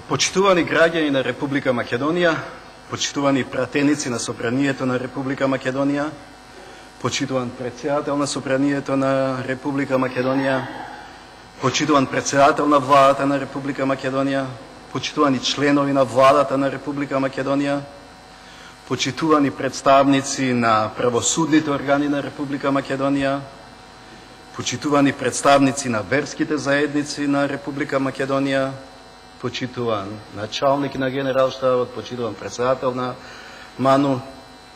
Почитувани граѓани на Република Македонија, почитувани пратеници на Собранието на Република Македонија, почитуван председател на Собранието на Република Македонија, почитуван председател на Владата на Република Македонија, почитувани членови на Владата на Република Македонија, почитувани представници на правосудните органи на Република Македонија, почитувани представници на верските заедници на Република Македонија, почитуван началник на Генералштабот, почитуван председател на МАНУ,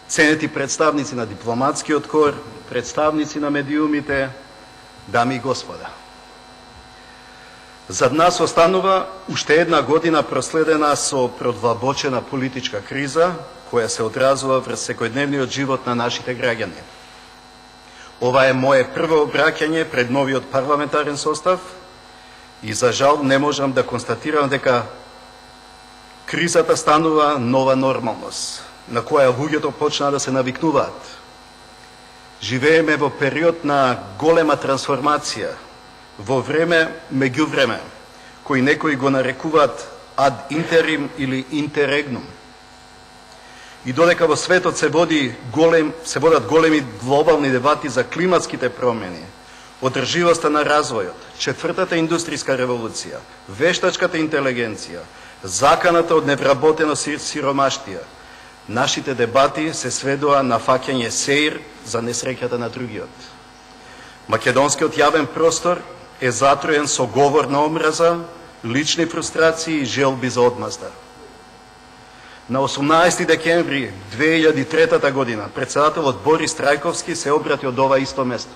ценети представници на дипломатскиот кор, представници на медиумите, дами и господа. Зад нас останува уште една година проследена со продлабочена политичка криза, која се одразува врз секојдневниот живот на нашите граѓани. Ова е мое прво обраќање пред новиот парламентарен состав и за жал не можам да констатирам дека кризата станува нова нормалност, на која луѓето почна да се навикнуваат. Живееме во период на голема трансформација, во време меѓувреме, кој некои го нарекуваат ад интерим или интеррегнум. И додека во светот се водат големи глобални дебати за климатските промени, одрживоста на развојот, четвртата индустријска револуција, вештачката интелигенција, заканата од невработено сиромаштија, нашите дебати се сведоа на фаќање сеир за несреќата на другиот. Македонскиот јавен простор е затроен со говор на омраза, лични фрустрации и желби за одмазда. На 18 декември 2003 година председателот Борис Трајковски се обрати од ова исто место.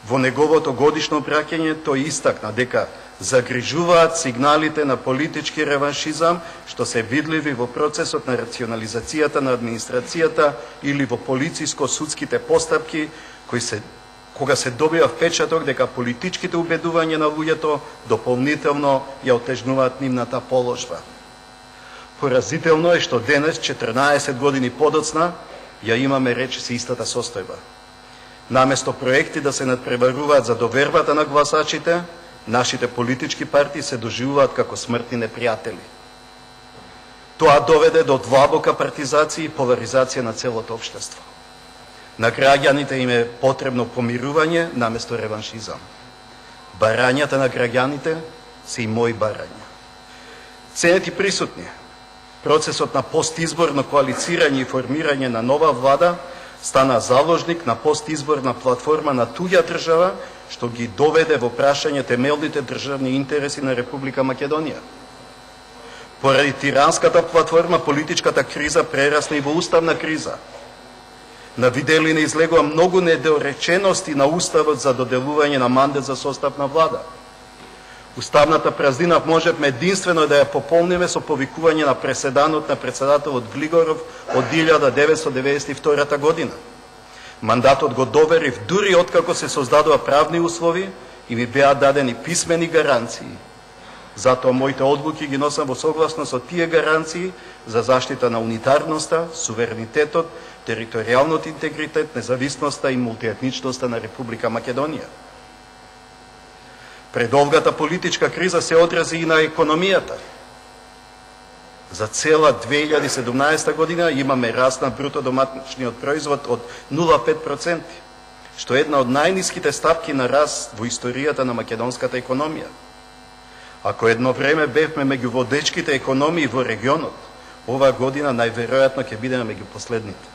Во неговото годишно обраќање тој истакна дека загрижуваат сигналите на политички реваншизам што се видливи во процесот на рационализацијата на администрацијата или во полициско-судските постапки кога се добива впечаток дека политичките убедувања на луѓето дополнително ја отежнуваат нивната положба. Поразително е што денес, 14 години подоцна, ја имаме речиси истата состојба. Наместо проекти да се надпреваруваат за довербата на гласачите, нашите политички партии се доживуваат како смртни непријатели. Тоа доведе до длабока партизација и поларизација на целото општество. На граѓаните им е потребно помирување наместо реваншизам. Барањата на граѓаните се и мои барања. Ценети присутни, процесот на постизборно коалицирање и формирање на нова влада стана заложник на постизборна платформа на туѓа држава, што ги доведе во прашање темелните државни интереси на Република Македонија. Поради тиранската платформа, политичката криза прерасна и во уставна криза. На виделина излегува многу недоречености на уставот за доделување на мандат за состав на влада. Уставната празнина можевме единствено да ја пополниме со повикување на преседанот на председателот Глигоров од 1992 година. Мандатот го доверив дури откако се создадува правни услови и ми беа дадени писмени гаранции. Затоа моите одлуки ги носам во согласност со тие гаранции за заштита на унитарноста, суверенитетот, територијалниот интегритет, независноста и мултиетничноста на Република Македонија. Предолгата политичка криза се одрази и на економијата. За цела 2017 година имаме раст на бруто доматичниот производ од 0,5%, што е една од најниските стапки на раст во историјата на македонската економија. Ако едно време бевме меѓу водечките економии во регионот, оваа година најверојатно ќе бидеме меѓу последните.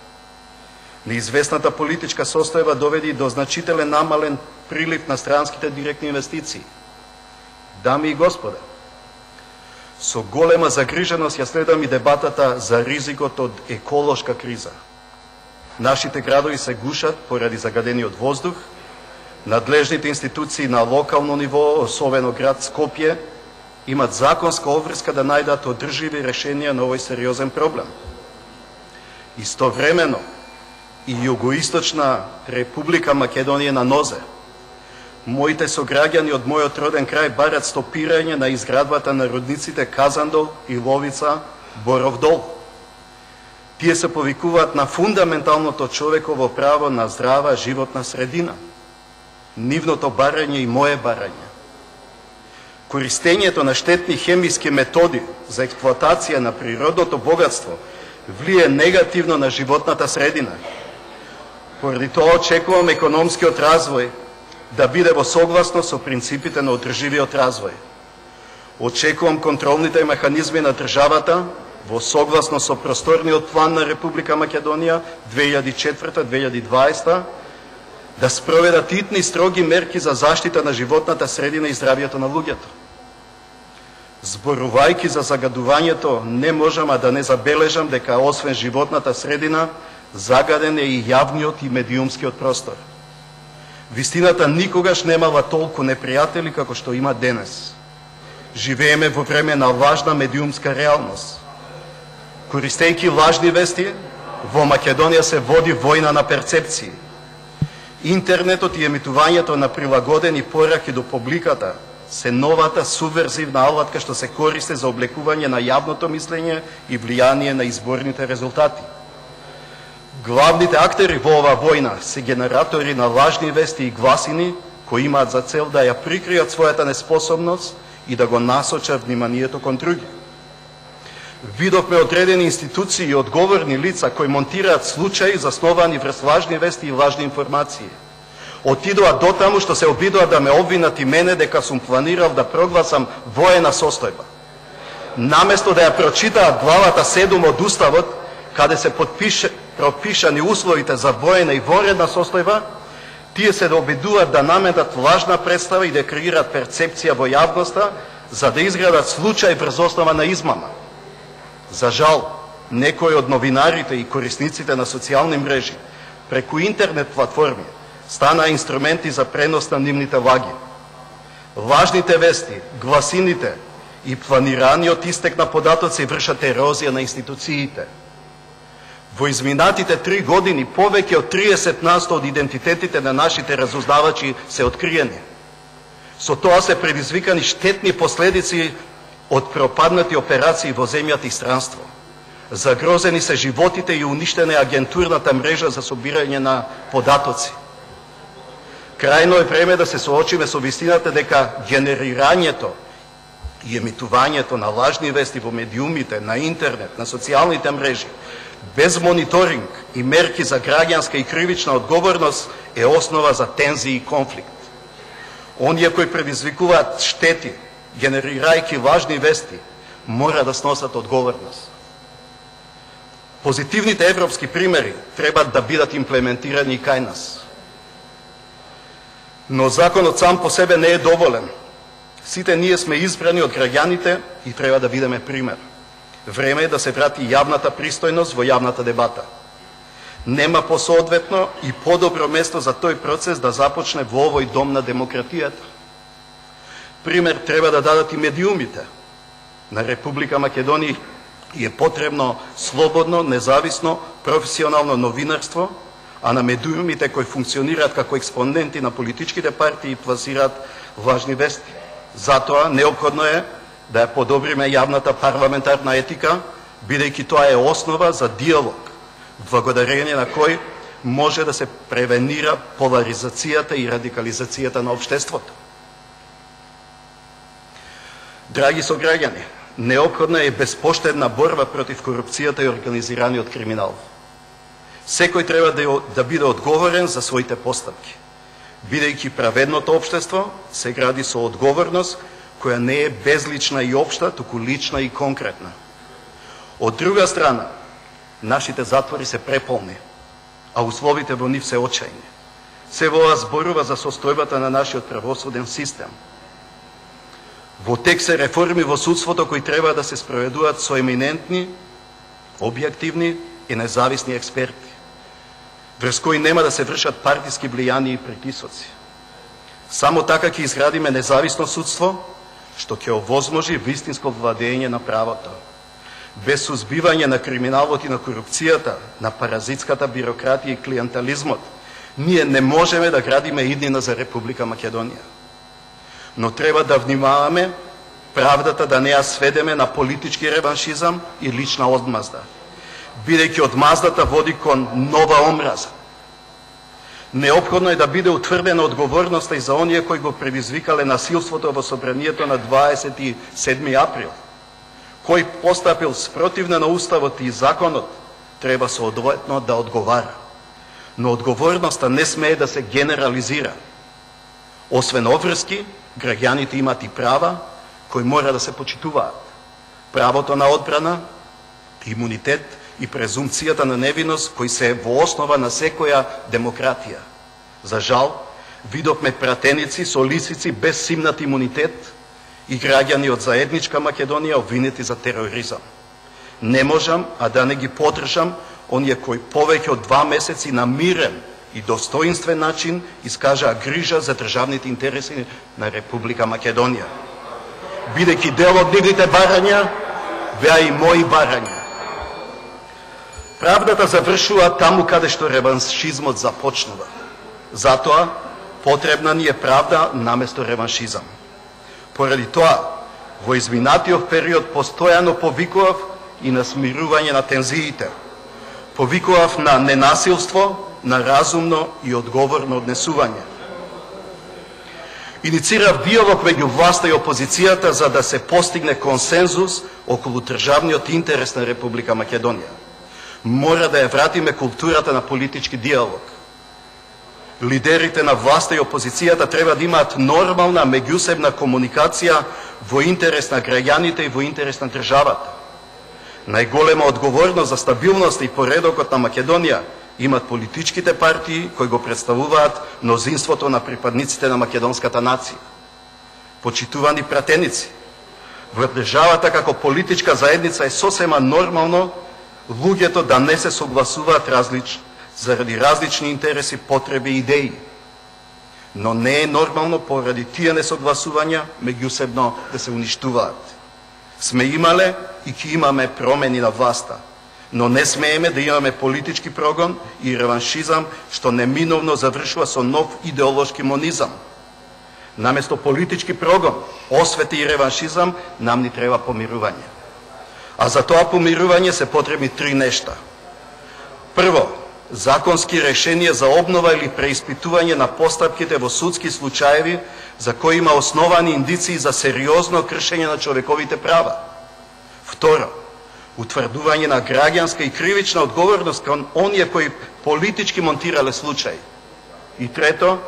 Неизвестната политичка состојба доведе до значителен намален прилив на странските директни инвестиции. Дами и господа, со голема загриженост ја следам и дебатата за ризикот од еколошка криза. Нашите градови се гушат поради загадениот воздух, надлежните институции на локално ниво, особено град Скопје, имат законска обврска да најдат одрживи решенија на овој сериозен проблем. Истовремено, и Југоисточна Република Македонија на нозе. Моите сограѓани од мојот роден крај барат стопирање на изградбата на рудниците Казандол и Ловица, Боров дол. Тие се повикуваат на фундаменталното човеково право на здрава животна средина. нивното барање и мое барање. Користењето на штетни хемиски методи за експлоатација на природното богатство влие негативно на животната средина. Поради тоа очекувам економскиот развој да биде во согласност со принципите на одрживиот развој. Очекувам контролните механизми на државата во согласност со просторниот план на Република Македонија 2004-2020 да спроведат итни строги мерки за заштита на животната средина и здравието на луѓето. Зборувајќи за загадувањето, не можам да не забележам дека освен животната средина, загаден е и јавниот и медиумскиот простор. Вистината никогаш немала толку непријатели како што има денес. Живееме во време на важна медиумска реалност. Користејќи лажни вести, во Македонија се води војна на перцепции. Интернетот и емитувањето на прилагодени пораки до публиката се новата субверзивна алатка што се користи за облекување на јавното мислење и влијание на изборните резултати. Главните актери во оваа војна се генератори на лажни вести и гласини кои имаат за цел да ја прикријат својата неспособност и да го насочат вниманието кон други. Видовме одредени институции и одговорни лица кои монтираат случаи засновани врз лажни вести и лажни информации. Отидоа до таму што се обидоа да ме обвинат и мене дека сум планирал да прогласам воена состојба. Наместо да ја прочитаат главата 7 од Уставот, каде се пропишани условите за воена и воредна состојба, тие се да обидуваат да наметат лажна представа и да креираат перцепција во јавноста за да изградат случај врз основа на измама. За жал, некои од новинарите и корисниците на социјални мрежи преку интернет платформи станаа инструменти за пренос на нивните лаги. Важните вести, гласините и планираниот истек на податоци вршат ерозија на институциите. Во изминатите 3 години повеќе од 30% од идентитетите на нашите разузнавачи се откриени. Со тоа се предизвикани штетни последици од пропаднати операции во земјата и странство. Загрозени се животите и уништена е агентурната мрежа за собирање на податоци. Крајно е време да се соочиме со вистината дека генерирањето и емитувањето на лажни вести во медиумите, на интернет, на социјалните мрежи, без мониторинг и мерки за граѓанска и кривична одговорност е основа за тензии и конфликт. Оние кои предизвикуваат штети, генерирајќи важни вести, мора да сносат одговорност. Позитивните европски примери треба да бидат имплементирани и кај нас. Но законот сам по себе не е доволен. Сите ние сме избрани од граѓаните и треба да бидеме пример. Време е да се врати јавната пристојност во јавната дебата. Нема посоодветно и подобро место за тој процес да започне во овој дом на демократијата. Пример треба да дадат и медиумите. На Република Македонија е потребно слободно, независно, професионално новинарство, а на медиумите кои функционираат како експоненти на политичките партии и пласираат важни вести. Затоа неопходно е да ја подобриме јавната парламентарна етика, бидејќи тоа е основа за диалог, благодарение на кој може да се превенира поларизацијата и радикализацијата на општеството. Драги сограѓани, неопходна е безпоштедна борба против корупцијата и организираниот криминал. Секој треба да биде одговорен за своите постапки, бидејќи праведното општество се гради со одговорност која не е безлична и општа, туку лична и конкретна. Од друга страна, нашите затвори се преполни, а условите во нив се очајни. Се ова зборува за состојбата на нашиот правосуден систем. Во тек се реформи во судството кои треба да се спроведуваат со еминентни, објективни и независни експерти, врз кои нема да се вршат партиски влијани и притисоци. Само така ќе изградиме независно судство, што ќе овозможи вистинско владење на правото. Без сузбивање на криминалот и на корупцијата, на паразитската бирократија и клиентализмот, ние не можеме да градиме иднина за Република Македонија. Но треба да внимаваме правдата да не ја сведеме на политички реваншизам и лична одмазда, бидејќи одмаздата води кон нова омраза. Неопходно е да биде утврдена одговорноста и за оние кои го предизвикале насилството во собранието на 27 април. Кој постапил спротивно на Уставот и законот, треба соодветно да одговара. Но одговорноста не смее да се генерализира. Освен обврски, граѓаните имат и права кои мора да се почитуваат. Правото на одбрана, имунитет и презумпцијата на невиност кои се во основа на секоја демократија. За жал, видовме пратеници со лисици без симнат имунитет и граѓани од заедничка Македонија обвинети за тероризам. Не можам, а да не ги подржам оние кои повеќе од 2 месеци на мирен и достоинствен начин искажаа грижа за државните интереси на Република Македонија. Бидејќи дел од нивните барања, беа и мои барања. Правдата завршува таму каде што реваншизмот започнува. Затоа, потребна ни е правда наместо реваншизам. Поради тоа, во изминатиот период постојано повикував и на смирување на тензиите. Повикував на ненасилство, на разумно и одговорно однесување. Иницирав диалог меѓу власта и опозицијата за да се постигне консензус околу државниот интерес на Република Македонија. Мора да ја вратиме културата на политички диалог. Лидерите на власта и опозицијата треба да имаат нормална меѓусебна комуникација во интерес на граѓаните и во интерес на државата. Најголема одговорност за стабилност и поредокот на Македонија имат политичките партии кои го представуваат мнозинството на припадниците на македонската нација. Почитувани пратеници, во државата како политичка заедница е сосема нормално луѓето да не се согласуваат заради различни интереси, потреби и идеи. Но не е нормално поради тие несогласувања меѓусебно да се уништуваат. Сме имале и ќе имаме промени на власта, но не смееме да имаме политички прогон и реваншизам што неминовно завршува со нов идеолошки монизам. Наместо политички прогон, освети и реваншизам, нам ни треба помирување. А за тоа помирување се потребни 3 нешта. Прво, законски решенија за обнова или преиспитување на постапките во судски случаеви за кои има основани индиции за сериозно кршење на човековите права. Второ, утврдување на граѓанска и кривична одговорност кон оние кои политички монтирале случаи. И трето,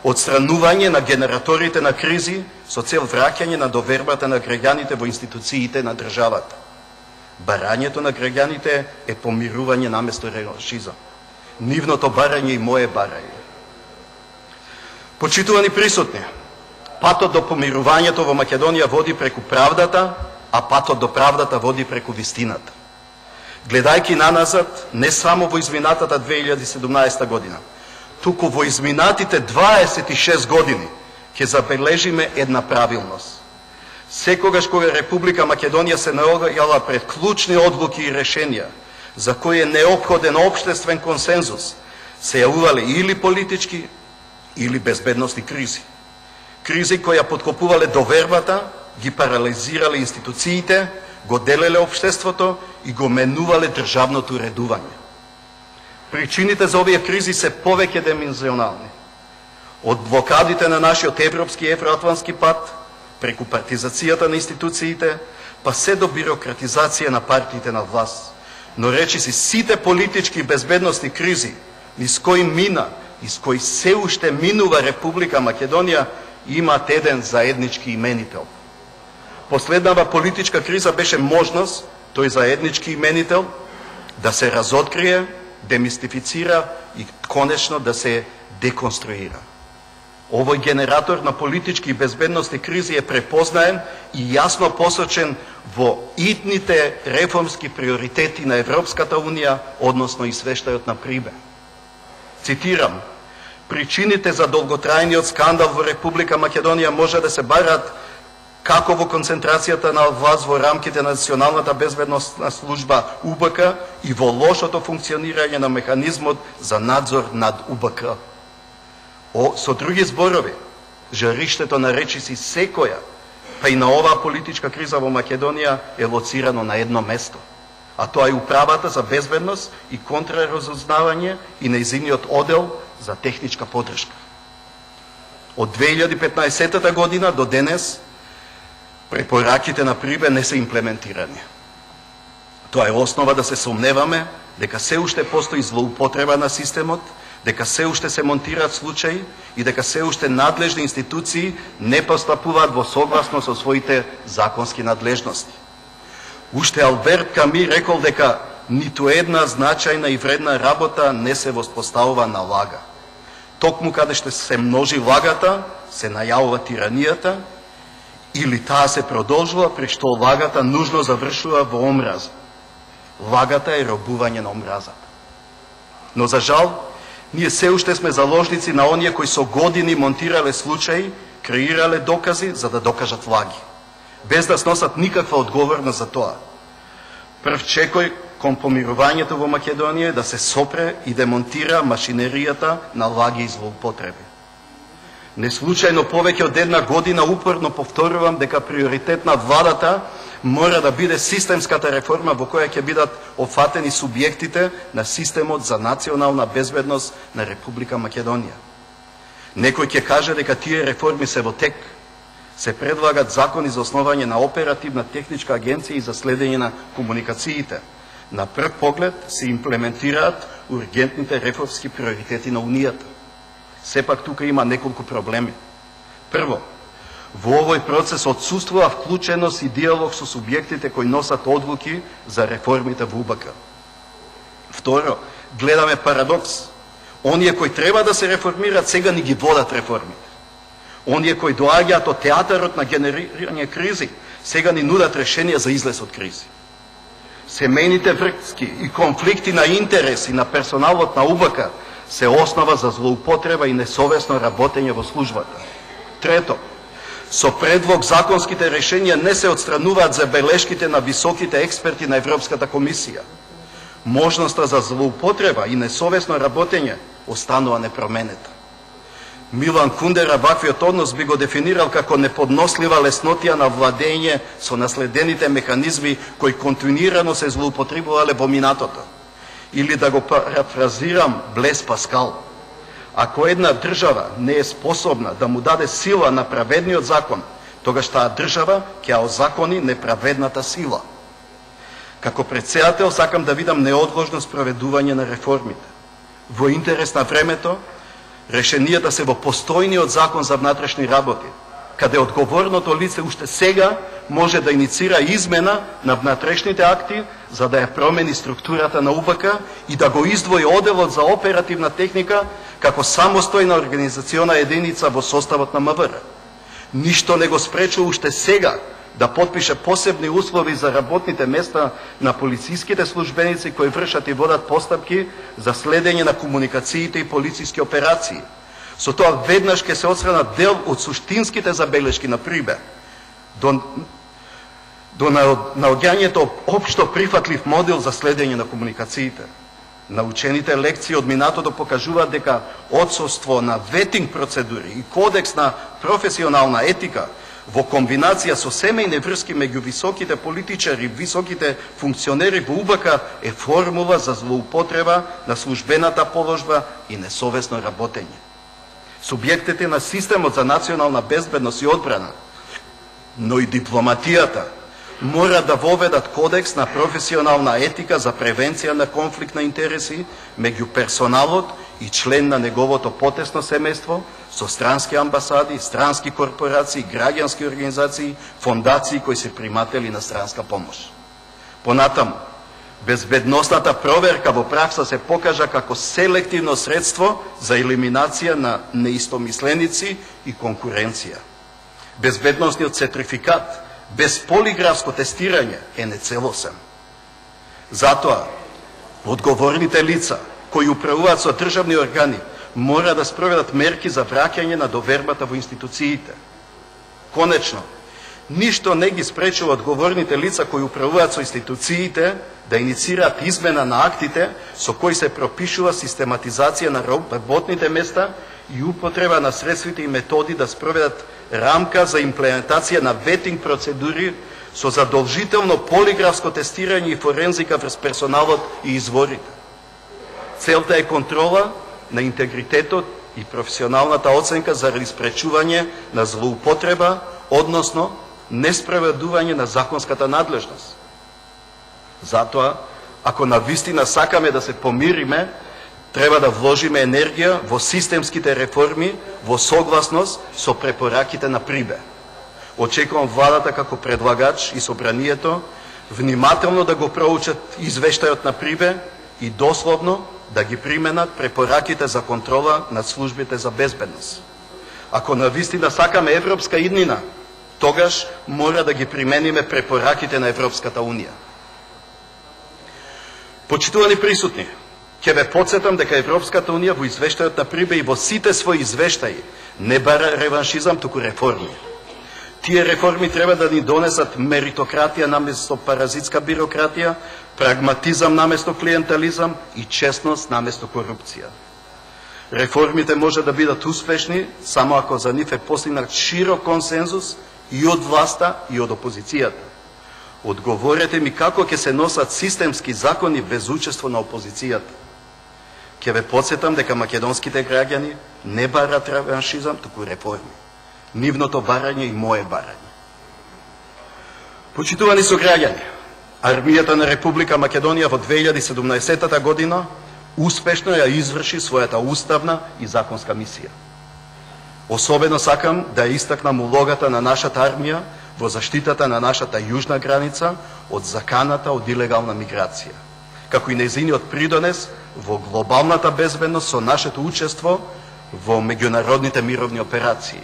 отстранување на генераторите на кризи со цел враќање на довербата на граѓаните во институциите на државата. Барањето на граѓаните е помирување наместо реваншизам. Нивното барање и мое барање. Почитувани присутни, патот до помирувањето во Македонија води преку правдата, а патот до правдата води преку вистината. Гледајќи наназад, не само во изминатата 2017 година, туку во изминатите 26 години ќе забележиме една правилност. Секогаш кога Република Македонија се наоѓала пред клучни одлуки и решенија, за кои е неопходен општествен консензус, се јавувале или политички, или безбедностни кризи. Кризи кои ја подкопувале довербата, ги парализирале институциите, го делеле општеството и го менувале државното редување. Причините за овие кризи се повеќе димензионални. Од блокадите на нашиот европски и евроатлантски пат, преку партизацијата на институциите, па се до бирократизација на партиите на власт. Но речиси сите политички и безбедностни кризи, низ кои мина, низ кои се уште минува Република Македонија, имаат еден заеднички именител. Последнава политичка криза беше можност тој заеднички именител да се разоткрие, демистифицира и конечно да се деконструира. Овој генератор на политички и безбедностни кризи е препознаен и јасно посочен во итните реформски приоритети на Европската Унија, односно извештајот на Прибе. Цитирам: причините за долготрајниот скандал во Република Македонија може да се барат како во концентрацијата на власт во рамките на Националната безбедносна служба УБК и во лошото функционирање на механизмот за надзор над УБК. Со други зборови, жариштето на речиси секоја, па и на оваа политичка криза во Македонија е лоцирано на едно место. а тоа е Управата за безбедност и контраразузнавање и нејзиниот оддел за техничка поддршка. Од 2015 година до денес препораките на ПРИБЕ не се имплементирани. Тоа е основа да се сомневаме дека се уште постои злоупотреба на системот, дека се уште се монтираат случаи и дека се уште надлежни институции не постапуваат во согласно со своите законски надлежности. Уште Алберт Ками рекол дека ниту една значајна и вредна работа не се воспоставува на лага. Токму каде што се множи лагата, се најавува тиранијата, или таа се продолжува, при што лагата нужно завршува во омраза. Лагата е робување на омразата. Но за жал, ние се уште сме заложници на оние кои со години монтирале случаи, креирале докази за да докажат лаги, без да сносат никаква одговорност за тоа. Прв чекој кон помирувањето во Македонија е да се сопре и демонтира машинеријата на лаги и злоупотреби. Неслучајно повеќе од една година упорно повторувам дека приоритет на владата мора да биде системската реформа во која ќе бидат опфатени субјектите на системот за национална безбедност на Република Македонија. Некој ќе каже дека тие реформи се во тек. Се предлагат закони за основање на оперативна техничка агенција и за следење на комуникациите. На прв поглед се имплементираат ургентните реформски приоритети на Унијата. Сепак тука има неколку проблеми. Прво, во овој процес отсуствува вклученост и диалог со субјектите кои носат одлуки за реформите во УБК. Второ, гледаме парадокс. Оние кои треба да се реформираат сега ни ги водат реформите. Оние кои доаѓаат од театарот на генерирање кризи сега ни нудат решенија за излез од кризи. Семејните врски и конфликти на интереси на персоналот на УБК се основа за злоупотреба и несовесно работење во службата. Трето, со предлог законските решенија не се отстрануваат забелешките на високите експерти на Европската комисија. Можноста за злоупотреба и несовесно работење останува непроменета. Милан Кундера ваквиот однос би го дефинирал како неподнослива леснотија на владење со наследените механизми кои континуирано се злоупотребувале во минатото. Или да го парафразирам Блес Паскал: ако една држава не е способна да му даде сила на праведниот закон, тогаш таа држава ќе озакони неправедната сила. Како претседател сакам да видам неодложно спроведување на реформите. Во интерес на времето, решенијата се во постојниот закон за внатрешни работи, каде одговорното лице уште сега може да иницира измена на внатрешните акти за да ја промени структурата на УБК и да го издвои одделот за оперативна техника како самостојна организациона единица во составот на МВР. Ништо не го спречува уште сега да потпише посебни услови за работните места на полициските службеници кои вршат и водат постапки за следење на комуникациите и полициски операции. Со тоа веднаш ќе се отстранат дел од суштинските забелешки на ПРИБЕ до наоѓањето општо прифатлив модел за следење на комуникациите. Научените лекции од минатото покажуваат дека отсуство на ветинг процедури и кодекс на професионална етика во комбинација со семејни врски меѓу високите политичари и високите функционери во УБК е формула за злоупотреба на службената положба и несовесно работење. Субјектите на системот за национална безбедност и одбрана, но и дипломатијата, мора да воведат кодекс на професионална етика за превенција на конфликт на интереси меѓу персоналот и член на неговото потесно семејство со странски амбасади, странски корпорации, граѓански организации, фондации кои се приматели на странска помош. Понатаму, безбедносната проверка во пракса се покажа како селективно средство за елиминација на неистомисленици и конкуренција. Безбедносниот сертификат без полиграфско тестирање е нецелосен. Затоа, одговорните лица кои управуваат со државни органи мора да спроведат мерки за враќање на довербата во институциите. Конечно, ништо не ги спречува одговорните лица кои управуваат со институциите да иницираат измена на актите со кои се пропишува систематизација на работните места и употреба на средствите и методи да спроведат рамка за имплементација на ветинг процедури со задолжително полиграфско тестирање и форензика врз персоналот и изворите. Целта е контрола на интегритетот и професионалната оценка заради спречување на злоупотреба, односно неспроведување на законската надлежност. Затоа, ако навистина сакаме да се помириме, треба да вложиме енергија во системските реформи во согласност со препораките на Прибе. Очекувам владата како предлагач и собранието внимателно да го проучат извештајот на Прибе и дословно да ги применат препораките за контрола над службите за безбедност. Ако навистина сакаме европска иднина, тогаш мора да ги примениме препораките на Европската Унија. Почитувани присутни, ќе ве потсетам дека Европската Унија во извештајот на Прибе и во сите своји извештаи не бара реваншизам, туку реформи. Тие реформи треба да ни донесат меритократија наместо паразитска бирократија, прагматизам наместо клиентализам и честност наместо корупција. Реформите може да бидат успешни само ако за нив е постигнат широк консензус и од власта и од опозицијата. Одговорете ми како ќе се носат системски закони без учество на опозицијата. Ќе ве потсетам дека македонските граѓани не барат реваншизам, туку реформи. Нивното барање и мое барање. Почитувани сограѓани, армијата на Република Македонија во 2017 година успешно ја изврши својата уставна и законска мисија. Особено сакам да истакнам улогата на нашата армија во заштитата на нашата јужна граница од заканата од илегална миграција, како и нејзиниот придонес во глобалната безбедност со нашето учество во меѓународните мировни операции.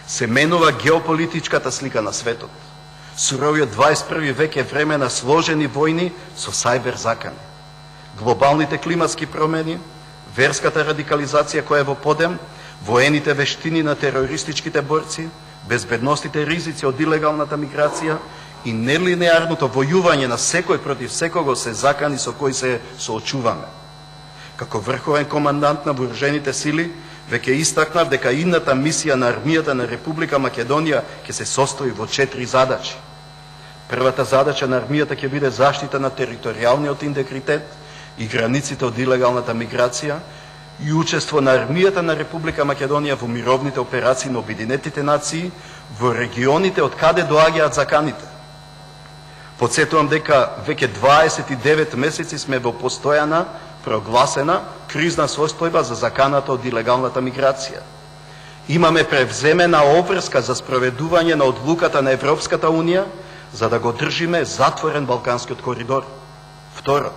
Се менува геополитичката слика на светот. Суровиот 21 век е време на сложени војни со сајбер закани. Глобалните климатски промени, верската радикализација која е во подем, воените вештини на терористичките борци, безбедностите ризици од илегалната миграција и нелинеарното војување на секој против секого се закани со кои се соочуваме. Како врховен командант на вооружените сили, веќе истакнав дека идната мисија на армијата на Република Македонија ќе се состои во 4 задачи. Првата задача на армијата ќе биде заштита на територијалниот интегритет и границите од илегалната миграција и учество на армијата на Република Македонија во мировните операции на Обединетите нации во регионите од каде доаѓаат заканите. Подсетувам дека веќе 29 месеци сме во постојана, прогласена кризна состојба за заканата од илегалната миграција. Имаме превземена обврска за спроведување на одлуката на Европската Унија за да го држиме затворен Балканскиот коридор. Второ,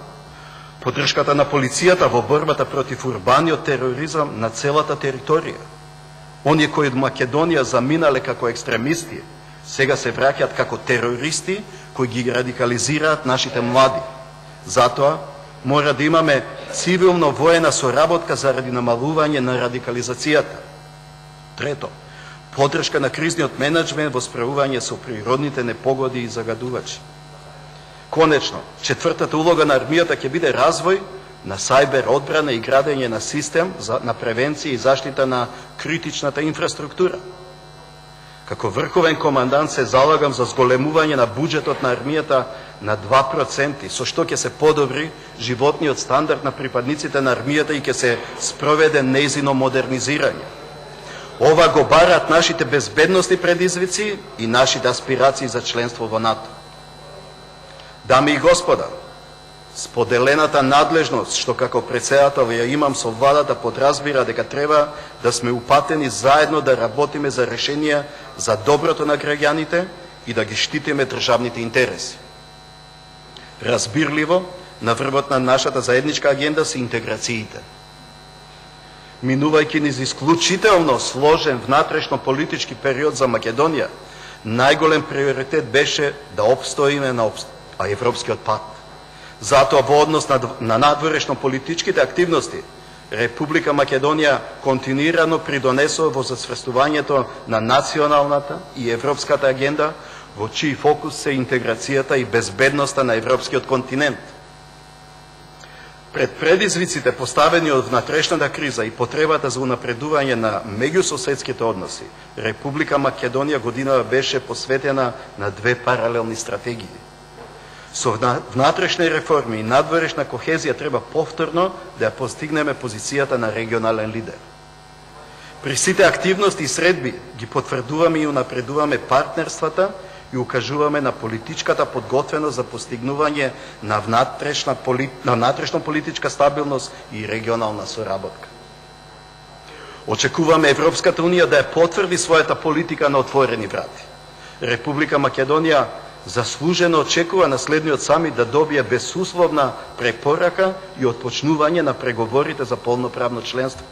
поддршката на полицијата во борбата против урбаниот тероризам на целата територија. Оние кои од Македонија заминале како екстремисти, сега се враќаат како терористи кои ги радикализираат нашите млади. Затоа мора да имаме цивилно-воена соработка заради намалување на радикализацијата. Трето, поддршка на кризниот менеджмент во справување со природните непогоди и загадувачи. Конечно, четвртата улога на армијата ќе биде развој на сајбер одбрана и градење на систем на превенција и заштита на критичната инфраструктура. Како врховен командант се залагам за зголемување на буџетот на армијата на 2%, со што ќе се подобри животниот стандард на припадниците на армијата и ќе се спроведе нејзино модернизирање. Ова го бараат нашите безбедностни предизвици и нашите аспирации за членство во НАТО. Дами и господа, споделената надлежност што како претседател ја имам со владата подразбира дека треба да сме упатени заедно да работиме за решенија за доброто на граѓаните и да ги штитиме државните интереси. Разбирливо, на врвот на нашата заедничка агенда се интеграциите. Минувајќи низ исклучително сложен внатрешно-политички период за Македонија, најголем приоритет беше да обстоиме на европскиот пат. Затоа во однос на надворешно-политичките активности, Република Македонија континуирано придонесува во засврстувањето на националната и европската агенда, во чиј фокус се интеграцијата и безбедноста на европскиот континент. Пред предизвиците поставени од внатрешната криза и потребата за унапредување на меѓусоседските односи, Република Македонија годинава беше посветена на две паралелни стратегии. Со внатрешни реформи и надворешна кохезија треба повторно да ја постигнеме позицијата на регионален лидер. При сите активности и средби ги потврдуваме и унапредуваме партнерствата и укажуваме на политичката подготвеност за постигнување на внатрешна политичка стабилност и регионална соработка. Очекуваме Европската Унија да ја потврди својата политика на отворени врати. Република Македонија заслужено очекува на следниот самит да добие безусловна препорака и отпочнување на преговорите за полноправно членство.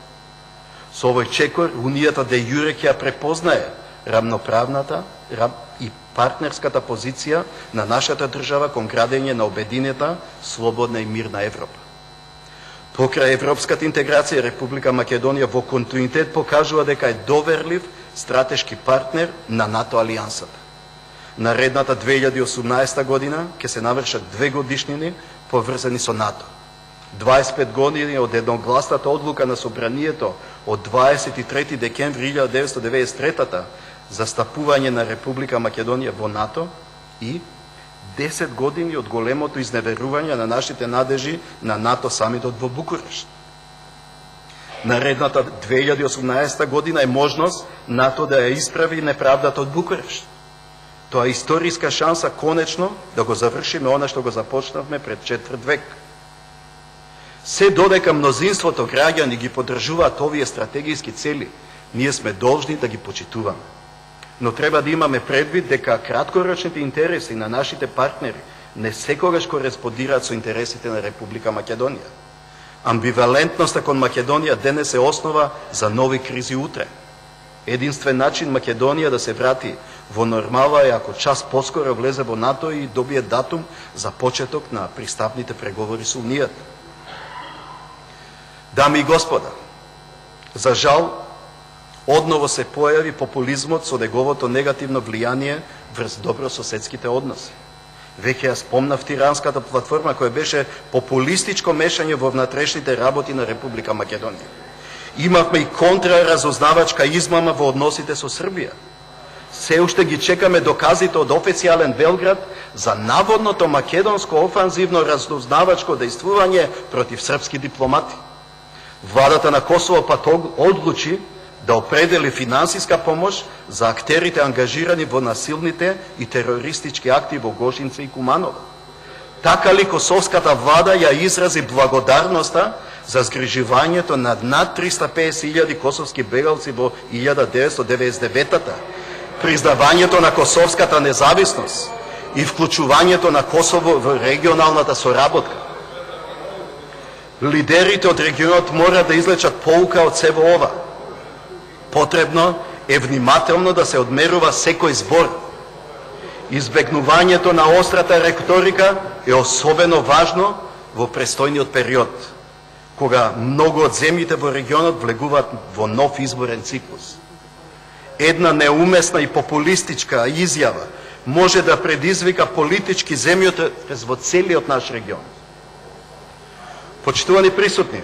Со овој чекор, Унијата де јуре ќе ја препознае рамноправната и партнерската позиција на нашата држава кон градење на обединета, слободна и мирна Европа. Покрај европската интеграција, Република Македонија во континуитет покажува дека е доверлив стратешки партнер на НАТО алијансата. Наредната 2018 година ќе се навршат 2 годишнини поврзани со НАТО. 25 години од едногласната одлука на Собранието од 23 декември 1993 за стапување на Република Македонија во НАТО и 10 години од големото изневерување на нашите надежи на НАТО самитот во Букурешт. Наредната 2018 година е можност НАТО да ја исправи неправдата од Букурешт. Тоа е историска шанса конечно да го завршиме она што го започнавме пред четврт век. Се додека мнозинството граѓани ги поддржуваат овие стратегиски цели, ние сме должни да ги почитуваме. Но треба да имаме предвид дека краткорочните интереси на нашите партнери не секогаш кореспондираат со интересите на Република Македонија. Амбивалентноста кон Македонија денес е основа за нови кризи утре. Единствен начин Македонија да се врати во нормала е ако час поскоро влезе во НАТО и добие датум за почеток на пристапните преговори со Унијата. Дами и господа, за жал, одново се појави популизмот со неговото негативно влијание врз добрососедските односи. Веќе ја спомнав тиранската платформа која беше популистичко мешање во внатрешните работи на Република Македонија. Имавме и контраразузнавачка измама во односите со Србија. Се уште ги чекаме доказите од официјален Белград за наводното македонско офанзивно разузнавачко дејствување против српски дипломати. Владата на Косово пат одлучи да определи финансиска помош за актерите ангажирани во насилните и терористички акти во Гошинце и Куманово. Така ли косовската влада ја изрази благодарноста за згрижувањето над 350.000 косовски бегалци во 1999-та, признавањето на косовската независност и вклучувањето на Косово во регионалната соработка. Лидерите од регионот мора да извлечат поука од сево ова. Потребно е внимателно да се одмерува секој збор. Избегнувањето на острата реторика е особено важно во престојниот период, кога многу од земјите во регионот влегуваат во нов изборен циклус. Една неумесна и популистичка изјава може да предизвика политички земјотрес во целиот наш регион. Почитувани присутни,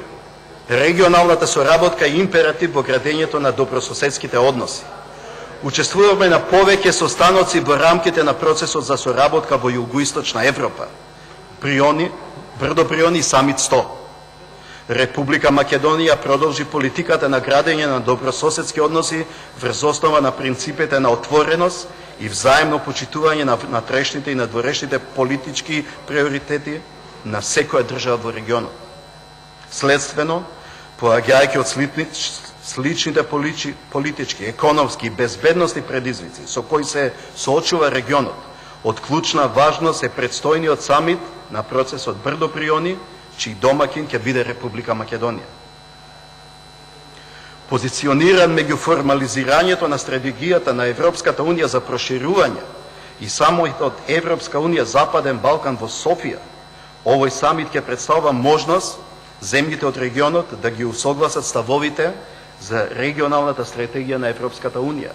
регионалната соработка е императив во градењето на добрососедските односи. Учествуваме на повеќе состаноци во рамките на процесот за соработка во Југоисточна Европа, Брдо Бриони и Самит 100. Република Македонија продолжи политиката на градење на добрососедски односи врз основа на принципите на отвореност и взаемно почитување на внатрешните и надворешните политички приоритети на секоја држава во регионот. Следствено, поаѓајќи од сличните политички, економски и безбедностни предизвици со кои се соочува регионот, од клучна важност е предстојниот самит на процесот Брдо Бриони, чиј домакин ќе биде Република Македонија. Позициониран меѓу формализирањето на стратегијата на Европската Унија за проширување и самоот Европска Унија Западен Балкан во Софија, овој самит ќе представува можност земјите од регионот да ги усогласат ставовите за регионалната стратегија на Европската Унија.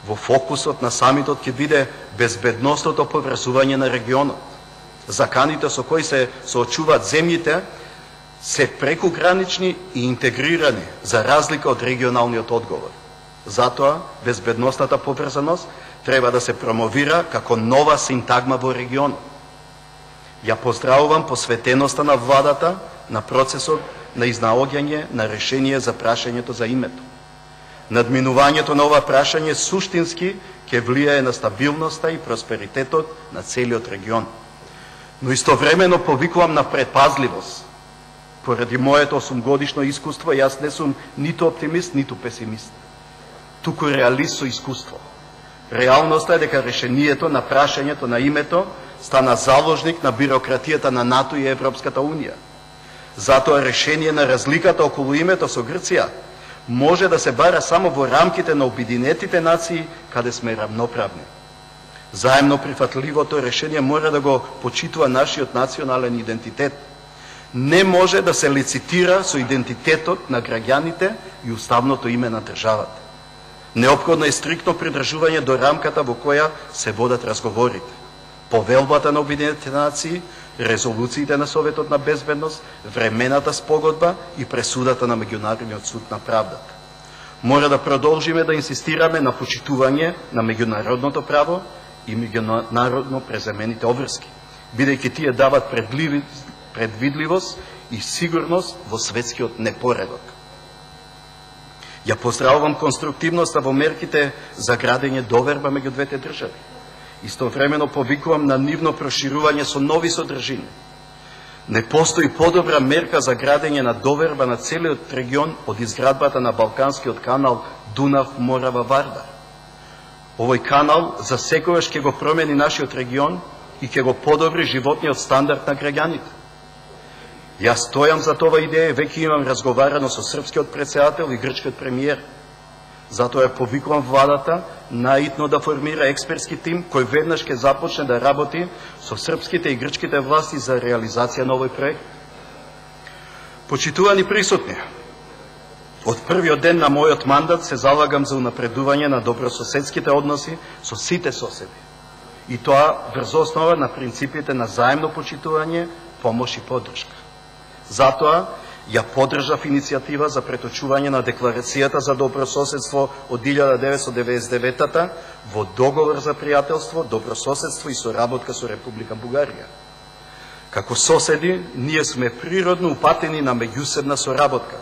Во фокусот на самитот ќе биде безбедностното поврзување на регионот, заканите со кои се соочуваат земјите се прекугранични и интегрирани за разлика од регионалниот одговор. Затоа, безбедносната поврзаност треба да се промовира како нова синтагма во регионот. Ја поздравувам посветеноста на владата на процесот на изнаоѓање на решение за прашањето за името. Надминувањето на ова прашање суштински ќе влијае на стабилноста и просперитетот на целиот регион. Но истовремено повикувам на предпазливост. Поради моето 8-годишно искуство, јас не сум ниту оптимист, ниту песимист. Туку реалист со искуство. Реалноста е дека решението на прашањето на името стана заложник на бирократијата на НАТО и Европската Унија. Затоа решение на разликата околу името со Грција може да се бара само во рамките на Обединетите нации, каде сме равноправни. Заемно прифатливото решение мора да го почитува нашиот национален идентитет. Не може да се лицитира со идентитетот на граѓаните и уставното име на државата. Неопходно е стриктно придржување до рамката во која се водат разговорите. Повелбата на Обединетите нации, резолуциите на Советот на безбедност, времената спогодба и пресудата на Меѓународниот суд на правдата. Мора да продолжиме да инсистираме на почитување на меѓународното право и меѓународно преземените обврски, бидејќи тие дават предвидливост и сигурност во светскиот непоредок. Ја поздравувам конструктивноста во мерките за градење доверба меѓу двете држави. Истовремено повикувам на нивно проширување со нови содржини. Не постои подобра мерка за градење на доверба на целиот регион од изградбата на Балканскиот канал Дунав-Морава-Вардар. Овој канал за секогаш ќе го промени нашиот регион и ќе го подобри животниот стандард на граѓаните. Јас стојам за това идеја, веќе имам разговарано со српскиот претседател и грчкиот премиер. Затоа ја повикувам владата наитно да формира експертски тим кој веднаш ќе започне да работи со српските и грчките власти за реализација на овој проект. Почитувани присутни, од првиот ден на мојот мандат се залагам за унапредување на добрососедските односи со сите соседи. И тоа врз основа на принципите на заемно почитување, помош и поддршка. Затоа ја поддржав иницијатива за преточување на Декларацијата за добрососедство од 1999 во договор за пријателство, добрососедство и соработка со Република Бугарија. Како соседи, ние сме природно упатени на меѓусебна соработка.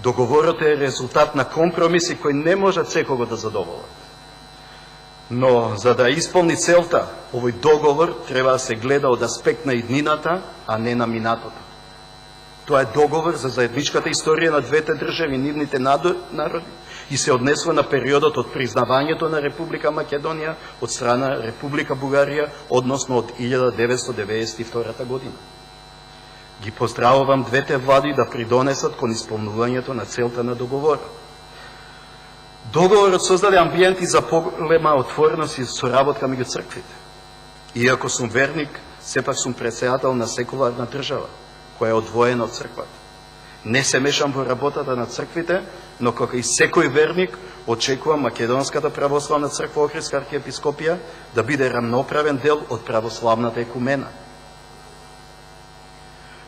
Договорот е резултат на компромиси кои не можат секого да задоволат. Но за да исполни целта, овој договор треба да се гледа од аспект на иднината, а не на минатото. Тоа е договор за заедничката историја на двете држави и нивните народи и се однесува на периодот од признавањето на Република Македонија од страна Република Бугарија, односно од 1992 година. Ги поздравувам двете влади да придонесат кон исполнувањето на целта на договорот. Договорот создаде амбиенти за поголема отвореност и соработка меѓу црквите. Иако сум верник, сепак сум претседател на секуларна држава, која е одвоена од црквата. Не се мешам во работата на црквите, но како и секој верник, очекувам Македонската православна црква Охридска архиепископија да биде рамноправен дел од православната екумена.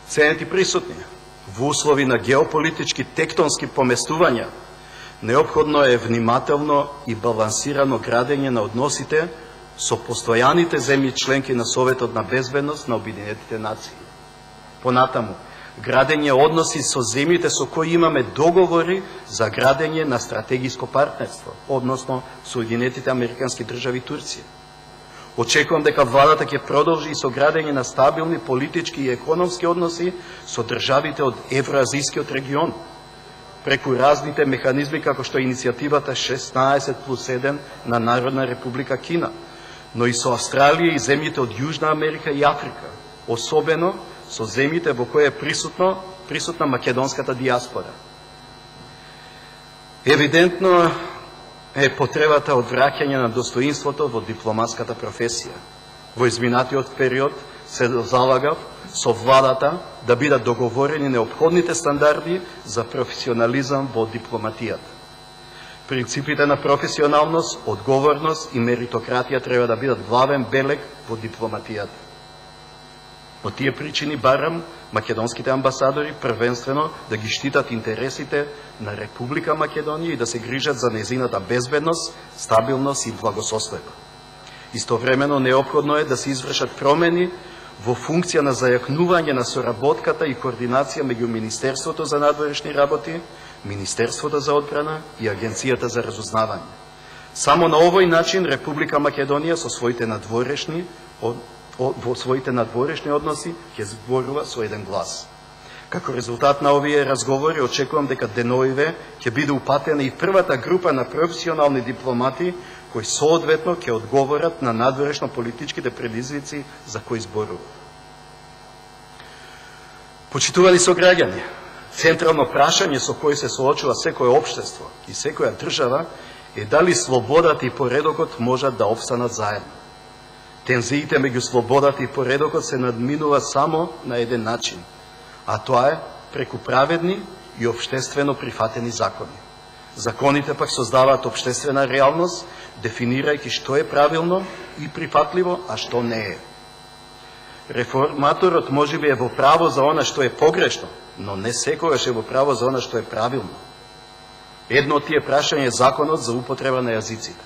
Ценети присутни, во услови на геополитички тектонски поместувања, неопходно е внимателно и балансирано градење на односите со постојаните земји членки на Советот на безбедност на Обединетите нации. Понатаму, градење односи со земјите со кои имаме договори за градење на стратегиско партнерство, односно Соединетите Американски држави и Турција. Очекувам дека владата ќе продолжи и со градење на стабилни политички и економски односи со државите од Евроазијскиот регион, преку разните механизми како што е иницијативата 16+1 на Народна република Кина, но и со Австралија и земјите од Јужна Америка и Африка, особено со земјите во кои е присутна македонската диаспора. Евидентно е потребата од враќање на достоинството во дипломатската професија. Во изминатиот период се залагав со владата да бидат договорени неопходните стандарди за професионализам во дипломатијата. Принципите на професионалност, одговорност и меритократија треба да бидат главен белег во дипломатијата. По тие причини барам македонските амбасадори првенствено да ги штитат интересите на Република Македонија и да се грижат за незината безбедност, стабилност и благосостојба. Истовремено неопходно е да се извршат промени во функција на зајакнување на соработката и координација меѓу Министерството за надворешни работи, Министерството за одбрана и Агенцијата за разузнавање. Само на овој начин Република Македонија со своите надворешни односи ќе зборува со еден глас. Како резултат на овие разговори очекувам дека деновиве ќе биде упатена и првата група на професионални дипломати кои соодветно ќе одговорат на надворешно политичките предизвици за кои зборува. Почитувани сограѓани, централно прашање со кој се соочува секое општество и секоја држава е дали слободата и поредокот можат да опстанат заедно. Тензиите меѓу слободата и поредокот се надминува само на еден начин, а тоа е преку праведни и општествено прифатени закони. Законите пак создаваат општествена реалност, дефинирајќи што е правилно и прифатливо, а што не е. Реформаторот можеби е во право за она што е погрешно, но не секогаш е во право за она што е правилно. Едно од тие прашање е законот за употреба на јазиците.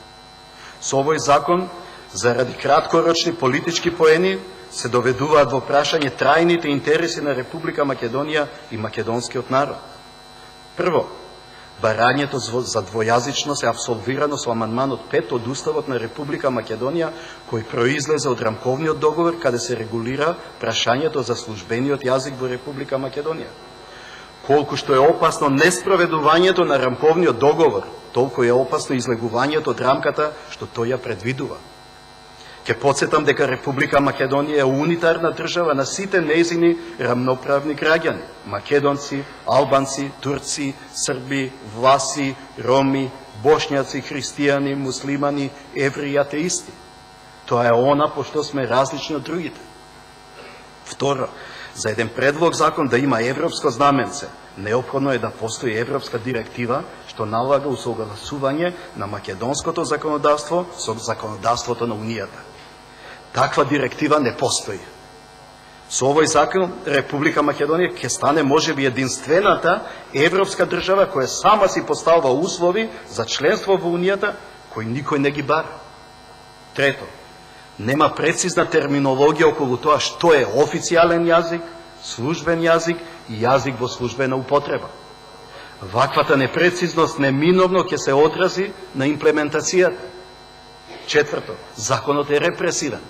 Со овој закон, заради краткорочни политички поени, се доведуваат во прашање трајните интереси на Република Македонија и македонскиот народ. Прво, барањето за двојазичност е абсолвирано со амандманот 5 од Уставот на Република Македонија, кој произлезе од рамковниот договор каде се регулира прашањето за службениот јазик во Република Македонија. Колку што е опасно неспроведувањето на рамковниот договор, толку е опасно излегувањето од рамката што тој ја предвидува. Ке подсетам дека Република Македонија е унитарна држава на сите нејзини рамноправни граѓани: македонци, албанци, турци, срби, власи, роми, бошњаци, христијани, муслимани, евреи и атеисти. Тоа е она по што сме различни од другите. Второ, за еден предлог закон да има европско знаменце, неопходно е да постои европска директива што налага усогласување на македонското законодавство со законодавството на Унијата. Таква директива не постои. Со овој закон Република Македонија ќе стане можеби единствената европска држава која сама си поставува услови за членство во Унијата кои никој не ги бара. Трето, нема прецизна терминологија околу тоа што е официјален јазик, службен јазик и јазик во службена употреба. Ваквата непрецизност неминовно ќе се одрази на имплементацијата. Четврто, законот е репресивен.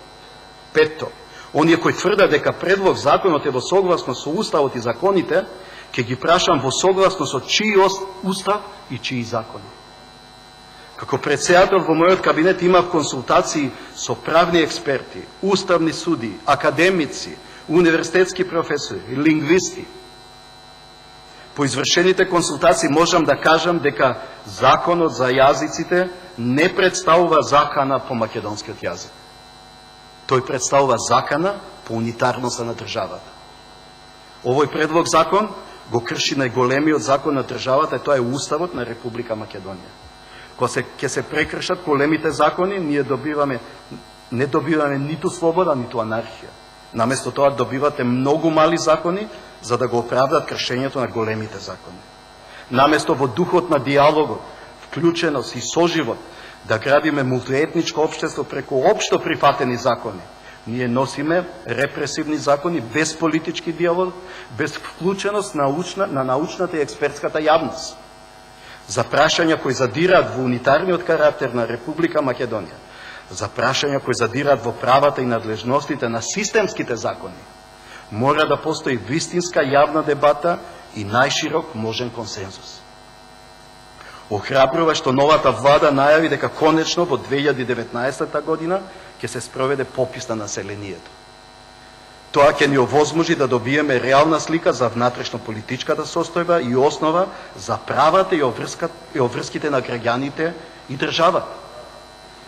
Петто, оние кои тврдат дека предлог законот е во согласност со Уставот и законите, ќе ги прашам во согласност со чии Устав и чии закони. Како председател во мојот кабинет имав консултации со правни експерти, уставни суди, академици, универзитетски професори, лингвисти. По извршените консултации можам да кажам дека законот за јазиците не представува закана по македонскиот јазик. Тој представува закана по унитарноста на државата. Овој предлог закон го крши најголемиот закон на државата, и тоа е Уставот на Република Македонија. Кога ќе се прекршат големите закони, ние не добиваме ниту слобода, ниту анархија. Наместо тоа добивате многу мали закони за да го оправдат кршењето на големите закони. Наместо во духот на диалогот, вклученост и соживот да градиме мултиетничко општество преку општо прифатени закони, ние носиме репресивни закони без политички диалог, без вклученост на научната и експертската јавност. За прашања кои задираат во унитарниот карактер на Република Македонија, за прашања кои задираат во правата и надлежностите на системските закони, мора да постои вистинска јавна дебата и најширок можен консензус. Охрабрува што новата влада најави дека конечно во 2019 година ќе се спроведе попис на населението. Тоа ќе ни овозможи да добиеме реална слика за внатрешно-политичката состојба и основа за правата и обврските на граѓаните и државата.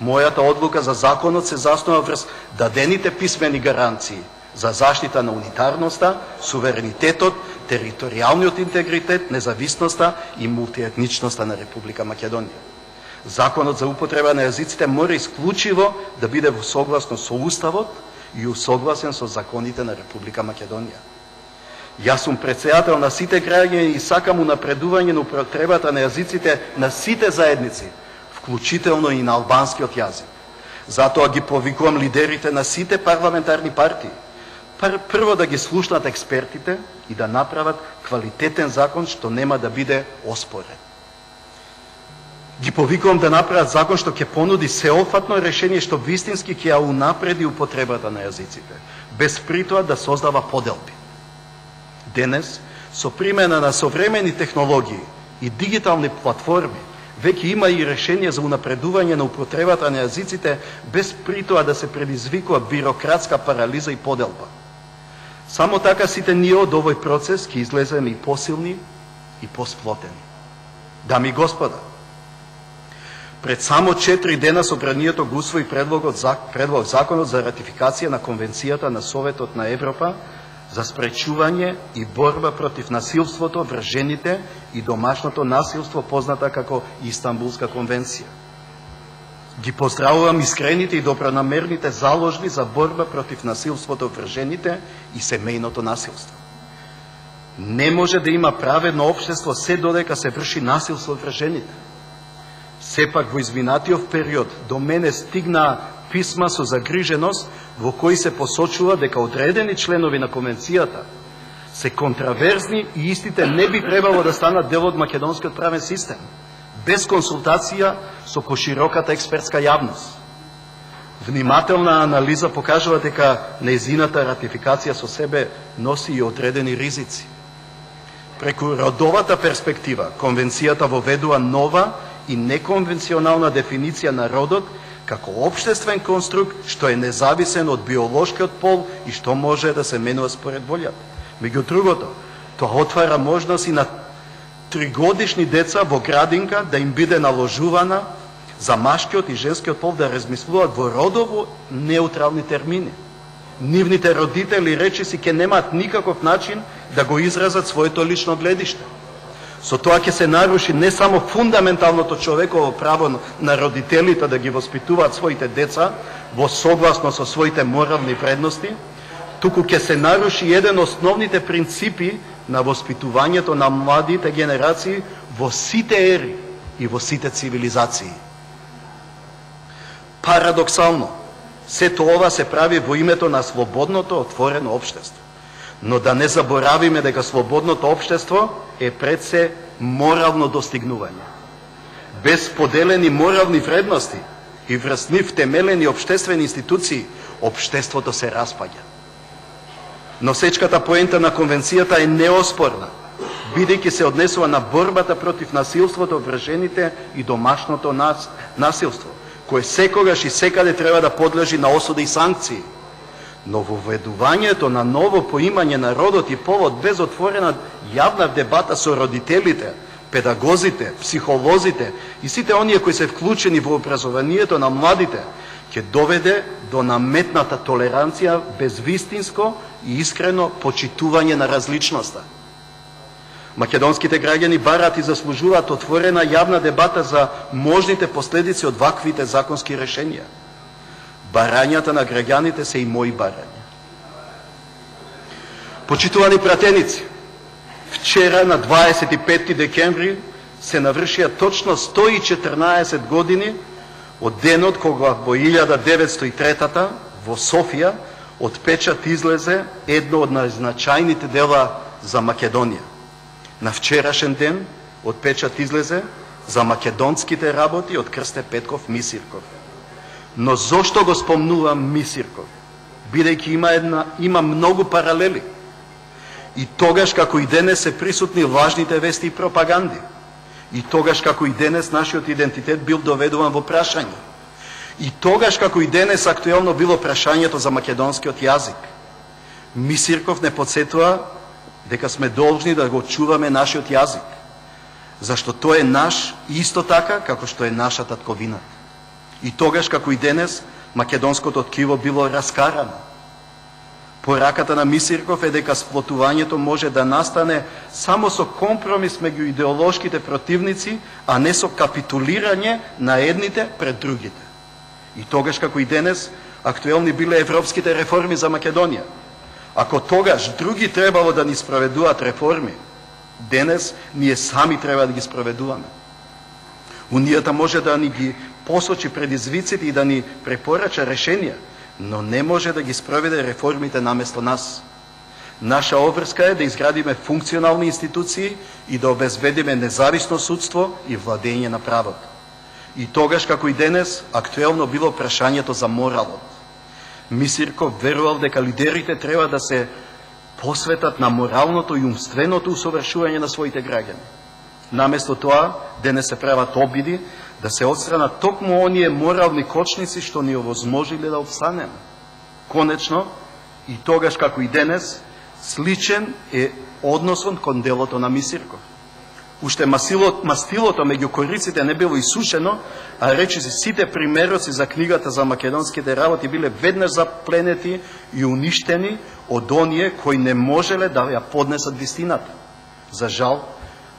Мојата одлука за законот се заснова врз дадените писмени гаранции за заштита на унитарноста, суверенитетот, територијалниот интегритет, независноста и мултиетничноста на Република Македонија. Законот за употреба на јазиците мора исклучиво да биде во согласност со Уставот и усогласен со законите на Република Македонија. Јас сум председател на сите граѓани и сакам унапредување на употребата на јазиците на сите заедници, вклучително и на албанскиот јазик. Затоа ги повикувам лидерите на сите парламентарни партии. Прво да ги слушнат експертите и да направат квалитетен закон што нема да биде оспорен. Ги повикувам да направат закон што ќе понуди сеопфатно решение што вистински ќе ја унапреди употребата на јазиците, без притоа да создава поделби. Денес, со примена на современи технологии и дигитални платформи, веќе има и решение за унапредување на употребата на јазиците, без притоа да се предизвикува бирократска парализа и поделба. Само така сите ние од овој процес ќе излеземе и посилни и посплотени. Дами и господа, пред само 4 дена Собранието го усвои предлог законот за ратификација на Конвенцијата на Советот на Европа за спречување и борба против насилството врз жените и домашното насилство, позната како Истанбулска конвенција. Ги поздравувам искрените и добронамерните заложби за борба против насилството врз жените и семејното насилство. Не може да има праведно општество се додека се врши насилство врз жените. Сепак во изминатиот период до мене стигнаа писма со загриженост во кои се посочува дека одредени членови на конвенцијата се контраверзни и истите не би требало да станат дел од македонскиот правен систем, без консултација со пошироката експертска јавност. Внимателна анализа покажува дека нејзината ратификација со себе носи и одредени ризици. Преку родовата перспектива, конвенцијата воведува нова и неконвенционална дефиниција на родот како општествен конструкт што е независен од биолошкиот пол и што може да се менува според волјата. Меѓу другото, тоа отвара можност и на 3-годишни деца во градинка да им биде наложувана за машкиот и женскиот пол да размислуваат во родово неутрални термини. Нивните родители речиси ќе немаат никаков начин да го изразат своето лично гледиште. Со тоа ќе се наруши не само фундаменталното човеково право на родителите да ги воспитуваат своите деца во согласно со своите морални вредности, туку ќе се наруши еден од основните принципи на воспитувањето на младите генерации во сите ери и во сите цивилизации. Парадоксално, сето ова се прави во името на слободното, отворено општество. Но да не заборавиме дека слободното општество е пред се морално достигнување. Без поделени морални вредности и врз нив темелени општествени институции, општеството се распаѓа. Носечката поента на конвенцијата е неоспорна, бидејќи се однесува на борбата против насилството врз жените и домашното насилство, кое секогаш и секаде треба да подлежи на осуда и санкции. Но воведувањето на ново поимање на родот и полот без отворена јавна дебата со родителите, педагозите, психолозите и сите оние кои се вклучени во образованието на младите, ќе доведе до наметната толеранција без вистинско и искрено почитување на различноста. Македонските граѓани бараат и заслужуваат отворена јавна дебата за можните последици од ваквите законски решенија. Барањата на граѓаните се и мои барања. Почитувани пратеници, вчера на 25 декември се навршија точно 114 години од денот кога во 1903 во Софија од печат излезе едно од најзначајните дела за Македонија. На вчерашен ден од печат излезе за македонските работи од Крсте Петков Мисирков. Но зошто го спомнувам Мисирков? Бидејќи има многу паралели. И тогаш како и денес се присутни лажните вести и пропаганди. И тогаш како и денес нашиот идентитет бил доведуван во прашање. И тогаш како и денес актуелно било прашањето за македонскиот јазик. Мисирков не подсетува дека сме должни да го чуваме нашиот јазик. Зашто тој е наш исто така како што е наша татковина. И тогаш како и денес македонското ткиво било раскарано. Пораката на Мисирков е дека сплотувањето може да настане само со компромис меѓу идеолошките противници, а не со капитулирање на едните пред другите. И тогаш како и денес актуелни биле европските реформи за Македонија. Ако тогаш други требало да ни спроведуваат реформи, денес ние сами треба да ги спроведуваме. Унијата може да ни ги посочи предизвиците и да ни препорача решенија, но не може да ги спроведе реформите наместо нас. Наша обврска е да изградиме функционални институции и да обезбедиме независно судство и владење на правото. И тогаш, како и денес, актуелно било прашањето за моралот. Мисирков верувал дека лидерите треба да се посветат на моралното и умственото усовршување на своите граѓани. Наместо тоа, денес се прават обиди да се отстранат токму оние морални кочници што ни овозможиле да обстанеме. Конечно, и тогаш како и денес, сличен е односот кон делото на Мисирков. Уште мастилото меѓу кориците не било исушено, а речиси сите примероци за книгата за македонските работи биле веднаш запленети и уништени од оние кои не можеле да ја поднесат вистината. За жал,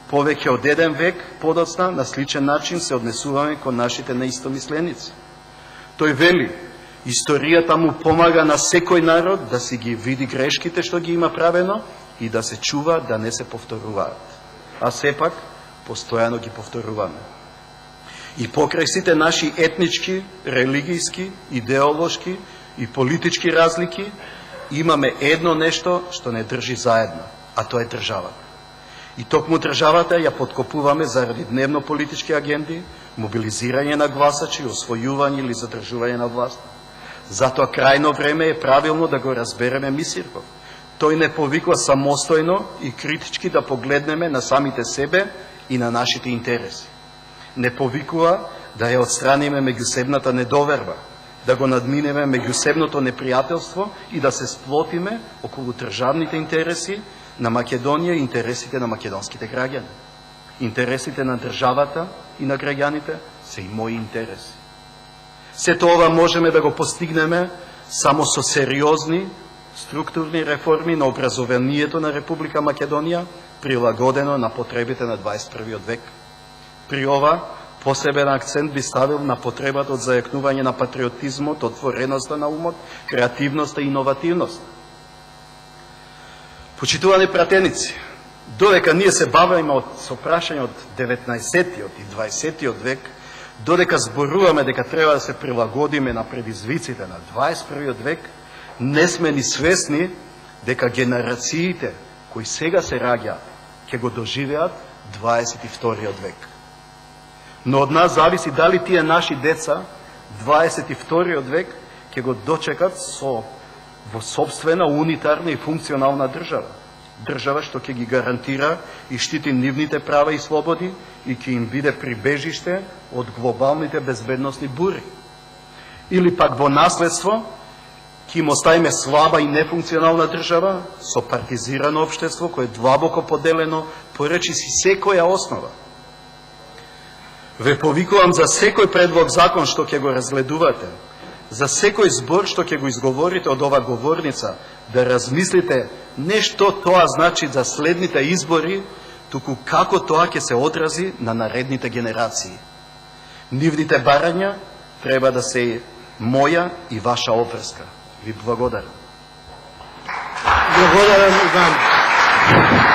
повеќе од еден век подоцна на сличен начин се однесуваме кон нашите неистомисленици. Тој вели, историјата му помага на секој народ да си ги види грешките што ги има правено и да се чува да не се повторуваат. А сепак, постојано ги повторуваме. И покрај сите наши етнички, религијски, идеолошки и политички разлики, имаме едно нешто што не држи заедно, а тоа е државата. И токму државата ја подкопуваме заради дневно политички агенди, мобилизирање на гласачи, освојување или задржување на власт. Затоа крајно време е правилно да го разбереме Мисирков. Тој не повикува самостојно и критички да погледнеме на самите себе и на нашите интереси. Не повикува да ја отстраниме меѓусебната недоверба, да го надминеме меѓусебното непријателство и да се сплотиме околу државните интереси на Македонија и интересите на македонските граѓани. Интересите на државата и на граѓаните се и мои интереси. Сето ова можеме да го постигнеме само со сериозни структурни реформи на образованието на Република Македонија, прилагодено на потребите на 21. век. При ова, посебен акцент би ставил на потребата од зајакнување на патриотизмот, отвореноста на умот, креативноста и иновативност. Почитувани пратеници, додека ние се бавиме со прашања од 19-тиот и 20-тиот век, додека зборуваме дека треба да се прилагодиме на предизвиците на 21. век, не сме ни свесни дека генерациите кои сега се раѓаат ќе го доживеат 22. век. Но од нас зависи дали тие наши деца 22. век ќе го дочекат во собствена, унитарна и функционална држава. Држава што ќе ги гарантира и штити нивните права и слободи и ќе им биде прибежиште од глобалните безбедносни бури. Или пак во наследство ќе им оставиме слаба и нефункционална држава со партизирано општество кое е длабоко поделено по речиси секоја основа. Ве повикувам за секој предлог закон што ќе го разгледувате, за секој збор што ќе го изговорите од ова говорница, да размислите не што тоа значи за следните избори, туку како тоа ќе се одрази на наредните генерации. Нивните барања треба да се моја и ваша обврска. Ви благодарам. Благодарам, Иван.